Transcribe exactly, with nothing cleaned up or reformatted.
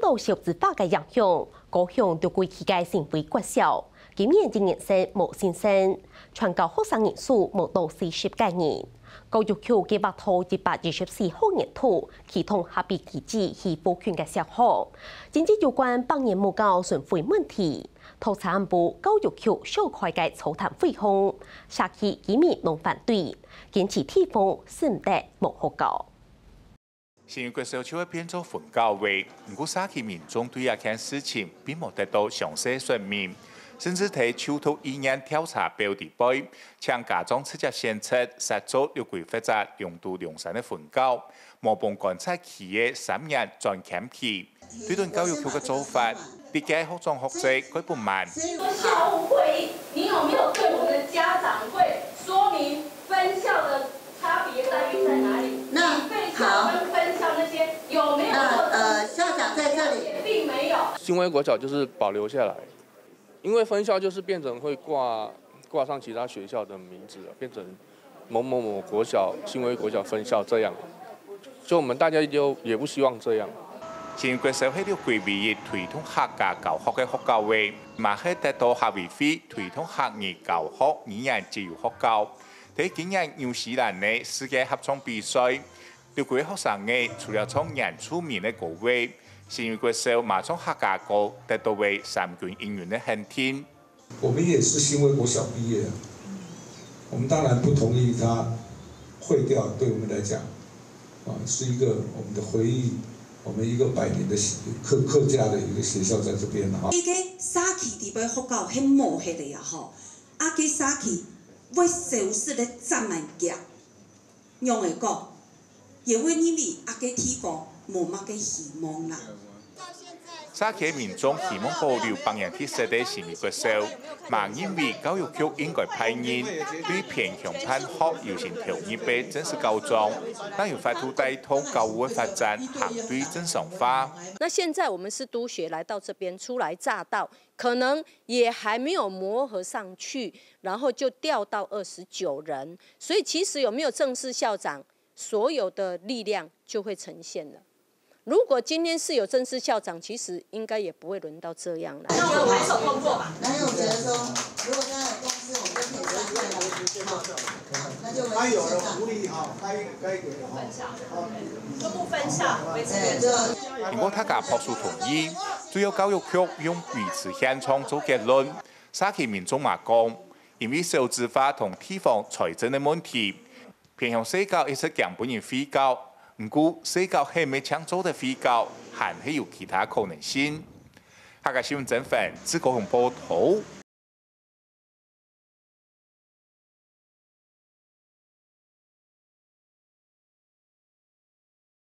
到少子化个影響，高雄六區區个新規國小，今年一年生無新生，全校學生人數無到四十个人。教育局計畫到一百二十四學年度啟動合併機制去補強个小學，針對有關百年無教巡迴問題，讀者暗晡教育局召開个座談會項，社區居民攏反對，堅持地方使毋得無學校。 新榮國小就會變做分校个，毋過社區民眾對這件事情並無得到詳細說明，甚至在就讀意願調查表裡背，請家長直接選擇設做六區或者龍都龍山个分校，無分觀察期个三年轉檢期。對等教育局个做法，歷屆校長學者蓋不滿。校務會議，你有沒有對我們的家長會說明分校的 差別待遇在哪裡？那你被校跟分校那些有沒有做成？那呃，校长在这里。并没有。新威国小就是保留下来，因为分校就是变成会挂挂上其他学校的名字了，变成某某某国小、新威国小分校这样，就我们大家就也不希望这样。新榮國小係六區唯一推動客家教學个學校个，嘛係得到客委會推動客語教學語言資優學校。 在今年紐西蘭个世界合唱比賽，六區个學生仔除了唱原住民个歌仔，新榮國小嘛唱客家歌，得到了三軍一軍个肯定。我们也是新威国小毕业的，我们当然不同意它毁掉，对我们来讲，啊，是一个我们的回忆，我们一个百年的客客家的一个学校在这边哈。一个社区底背学校很无黑的呀吼，啊个社区 會消失得遮爾遽，仰會講？也會認為啊个地方無麼个希望啦。社區民眾希望保留百年特色个新榮國小，嘛認為教育局應該派人對偏鄉辦學優先投入个正式校長，正有法度帶動教育个發展行對正常化。那現在我們是督學來到這邊初來乍到，可能也還沒有磨合上去，然後就調到二十九人，所以其實有沒有正式校長，所有的力量就會呈現了。如果今天是有正式校長，其實應該也不會輪到這樣了。那我们拍手通过吧。那我觉得说，如果大家有共识，我们就可以这样子，好，那就维持现状。分校，都不分校，维持对，原状。就毋過大家拍手同意，主要教育局用維持現狀做結論。社區民眾嘛講，因為少子化同地方財政个問題，偏鄉社區一直驚分人廢校，毋過社區係毋係淨做得廢校，還係有其他可能性。客家新聞曾凡，自高雄報導。